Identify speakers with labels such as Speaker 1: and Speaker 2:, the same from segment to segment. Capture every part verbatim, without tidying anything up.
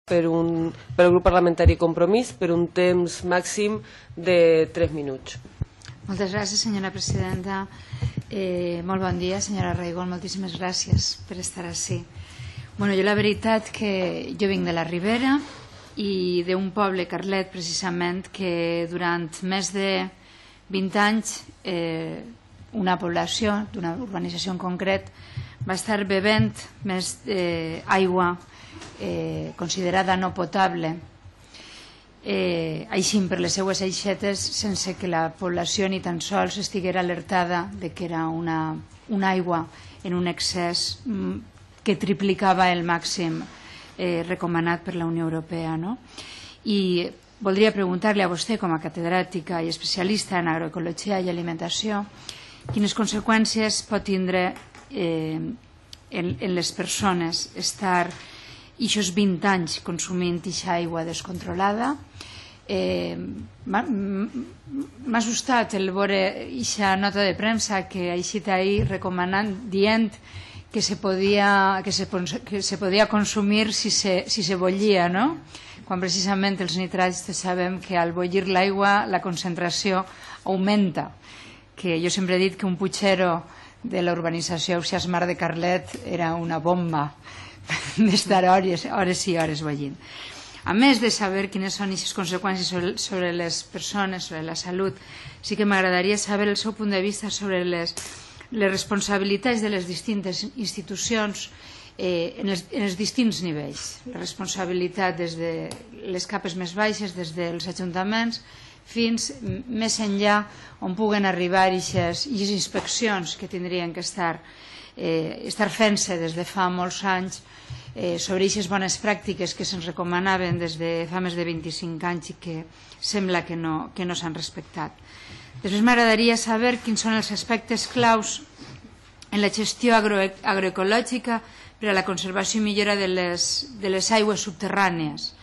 Speaker 1: per al grup parlamentari Compromís per un temps màxim de tres minuts.
Speaker 2: Moltes gràcies, senyora presidenta. Molt bon dia, senyora Reigol. Moltíssimes gràcies per estar ací. Bueno, jo la veritat que jo vinc de la Ribera i d'un poble, Carlet, precisament, que durant més de vint anys una població d'una urbanització en concret va estar bevent més aigua considerada no potable, així per les seues aixetes, sense que la població ni tan sols estiguera alertada de que era una aigua en un excés que triplicava el màxim recomanat per la Unió Europea. I voldria preguntar-li a vostè, com a catedràtica i especialista en agroecologia i alimentació, quines conseqüències pot tindre en les persones estar aquests vint anys consumint aquesta aigua descontrolada. M'ha assustat el veure aquesta nota de premsa que ha eixit ahir recomanant, dient que se podia consumir si se bollia, quan precisament els nitrats sabem que al bollir l'aigua la concentració augmenta, que jo sempre he dit que un putxero de la urbanització Ausiàs Mar de Carlet era una bomba d'estar hores i hores bollint. A més de saber quines són aquestes conseqüències sobre les persones, sobre la salut, sí que m'agradaria saber el seu punt de vista sobre les responsabilitats de les distintes institucions en els distints nivells. La responsabilitat des de les capes més baixes, des dels ajuntaments, fins més enllà on puguen arribar aquestes inspeccions que tindrien que estar fent-se des de fa molts anys sobre aquestes bones pràctiques que se'ns recomanaven des de fa més de vint-i-cinc anys i que sembla que no s'han respectat. Després m'agradaria saber quins són els aspectes claus en la gestió agroecològica per a la conservació i millora de les aigües subterrànies.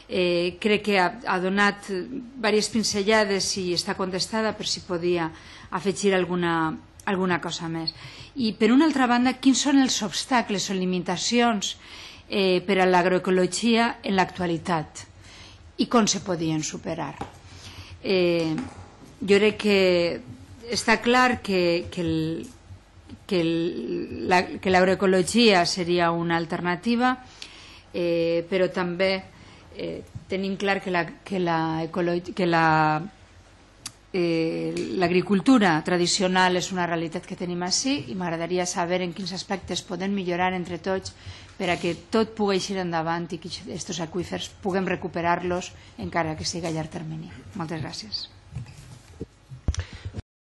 Speaker 2: Crec que ha donat diverses pinzellades i està contestada per si podia afegir alguna cosa més. I per una altra banda, quins són els obstacles o limitacions per a l'agroecologia en l'actualitat i com se podien superar. Jo crec que està clar que l'agroecologia seria una alternativa, però també tenim clar que l'agricultura tradicional és una realitat que tenim ací i m'agradaria saber en quins aspectes podem millorar entre tots perquè tot pugui eixir endavant i que aquests aqüífers puguem recuperar-los encara que sigui a llarg termini. Moltes gràcies.